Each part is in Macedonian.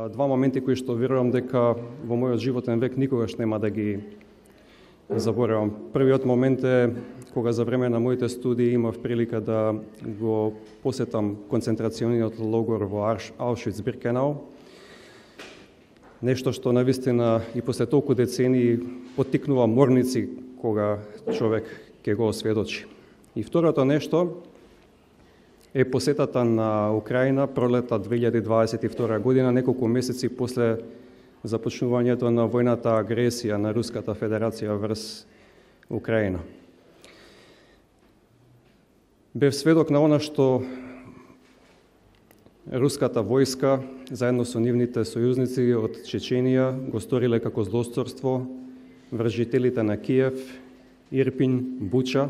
два моменти кои што верувам дека во мојот животен век никогаш нема да ги заборавам. Првиот момент е кога за време на моите студии имав прилика да го посетам концентрацијниот логор во Аушвиц-Биркенау. Нешто што навистина и после толку децении поттикнува морници кога човек ќе го осведочи. И второто нешто е посетата на Украина пролета 2022 година, неколку месеци после започнувањето на војната агресија на Руската Федерација врз Украина. Бев сведок на она што руската војска, заедно со нивните сојузници од Чеченија, го сториле како злосторство врз жителите на Киев, Ирпин, Буча.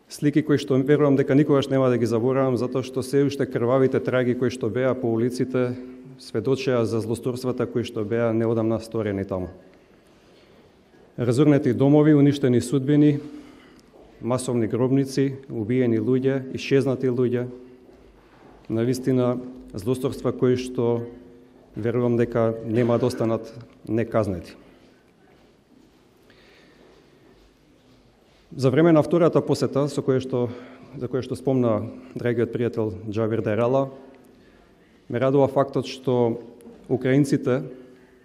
Слики кои што верувам дека никогаш нема да ги заборавам, затоа што се уште крвавите траги кои што беа по улиците сведочеа за злосторствата кои што беа неодамна сторени таму. Разорнети домови, уништени судбини, масовни гробници, убиени луѓе, исчезнати луѓе, навистина злосторства кои што верувам дека нема да останат неказнети. За време на втората посета, за која што спомна драгиот пријател Џавир Дерала, ме радува фактот што украинците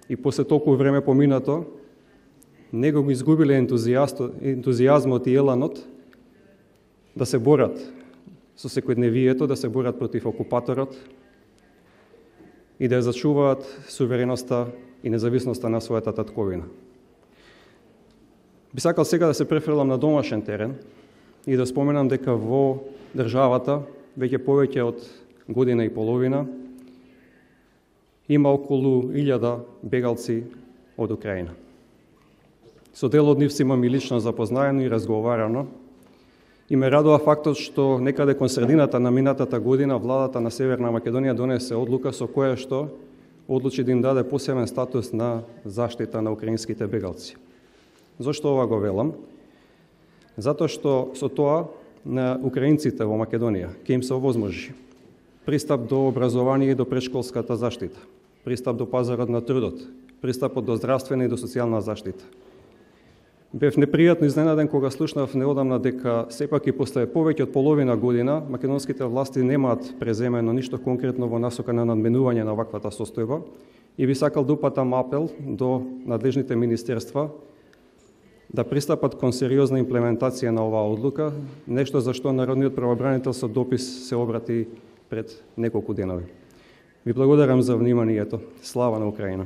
и после толку време поминато не го изгубиле ентузијазмот и еланот да се борат со секојдневието, да се борат против окупаторот и да ја зачуваат сувереноста и независноста на својата татковина. Би сакал сега да се префрлам на домашен терен и да споменам дека во државата веќе повеќе од година и половина има околу 1000 бегалци од Украина. Со дел од нив си имам и лично запознаено и разговарано и ме радува фактот што некаде кон средината на минатата година владата на Северна Македонија донесе одлука со која што одлучи да им даде посебен статус на заштита на украинските бегалци. Зошто ова го велам? Затоа што со тоа на украинците во Македонија ќе им се овозможи пристап до образование и до претшколската заштита, пристап до пазарот на трудот, пристапот до здравствена и до социјална заштита. Бев непријатно изненаден кога слушнав неодамна дека сепак и после повеќе од половина година македонските власти немаат преземено ништо конкретно во насока на надменување на ваквата состојба и би сакал да упатам апел до надлежните министерства да пристапат кон сериозна имплементација на оваа одлука, нешто за што Народниот правобранител со допис се обрати пред неколку денови. Ви благодарам за вниманието. Слава на Украина!